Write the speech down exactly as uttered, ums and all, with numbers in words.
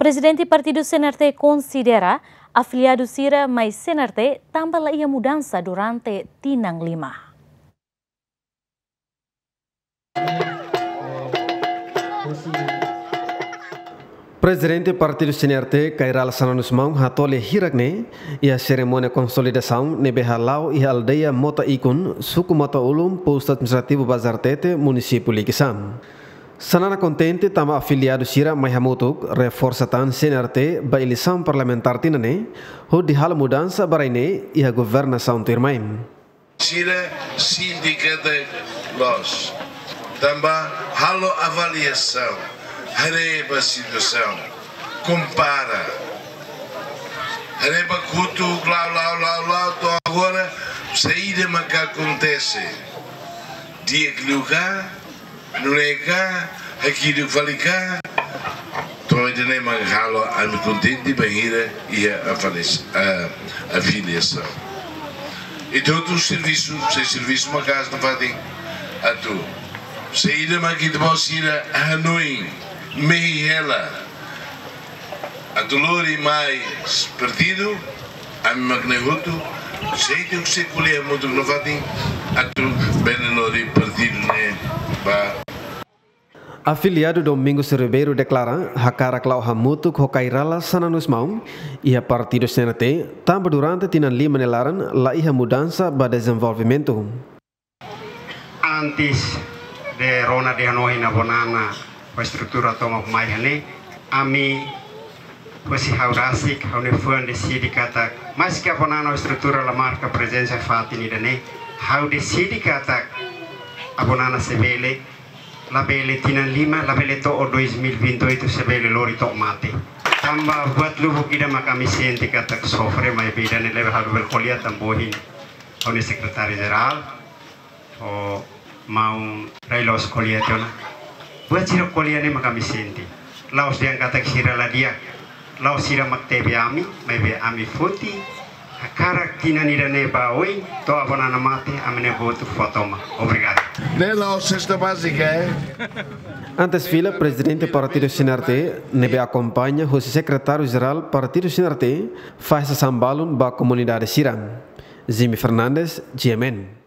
Prezidente Partidu C N R T konsidera afiliadu sira mai C N R T tanba la iha mudansa durante tinan lima. Prezidente Partidu C N R T, Kay Rala Xanana Gusmão, hato'o lia hirak ne'e iha serimónia konsolidasaun ne'ebé hala'o iha aldeia Mota Ikun, suku Mota Ulun, postu administrativu Bazartete, munisípiu Likisá. Xanana kontente tanba afiliadu sira mai hamutuk, reforsa tan C N R T ba eleisaun parlamentár tinan ne'e, hodi halo mudansa ba rai ne'e iha governasaun tuirmai. Sira sente katak loos. Tanba halo avaliasaun, haree ba situasaun, kompara. Haree ba kutu, la'o, la'o, la'o, la'o, to'o agora, saida maka akontese. Di'ak liu ka, nune'e ka, hakiduk fali ka, to'o ida-ne'e mak halo ami kontente bainhira iha avalias-, ah, afiliasaun. Ita hotu servisu, sei servisu maka'as nafatin atu saida mak ita-boot sira hanoin, mehi hela, atu lori mai partidu, ami mak ne'e hotu, sei ita sei ko'alia hamutuk nafatin, atu bele lori partidu ne'e ba. Afiliadu Domingos Ribeiro deklara, hakarak la'o hamutuk ho Kay Rala Xanana Gusmão iha Partidu C N R T, tanba durante tinan lima nia laran la iha mudansa ba dezenvolvimentu. Antes de rona de hanoin Avó Nana ho estrutura tomak mai iha ne'e, ami husi ha'u rasik, ha'u-nia fuan deside katak, maske Avó Nana ho estrutura la marka prezensa fatin ida-ne'e, ha'u deside katak Avó Nana sei bele, labele tinan lima, labele to'o dois mil e vinte e oito sei bele lori to'o mate. Tanba buat lubuk ida mak ami sente katak sofre, maibé ida-ne'e labele halo bele ko'alia tanba ohin ha'u-nia sekretáriu jerál, ho maun Ray Loos ko'alia tiha ona. Buat sira ko'alia ne'e mak ami sente. La'ós dehan katak sira la di'ak. La'ós sira mak tebe ami, maibé ami foti hakarak tinan ida-ne'e ba oin, to'o Avó Nana mate, ami-nia votu fó tomak. Obrigadu. Ne'e la'ós sesta bázika, eh? Antes fila, Prezidente Partidu C N R T, ne'ebé akompaña husi Sekretáriu Jerál Partidu C N R T, fó sasán balun ba komunidade sira. Jimmy Fernandes, G M N.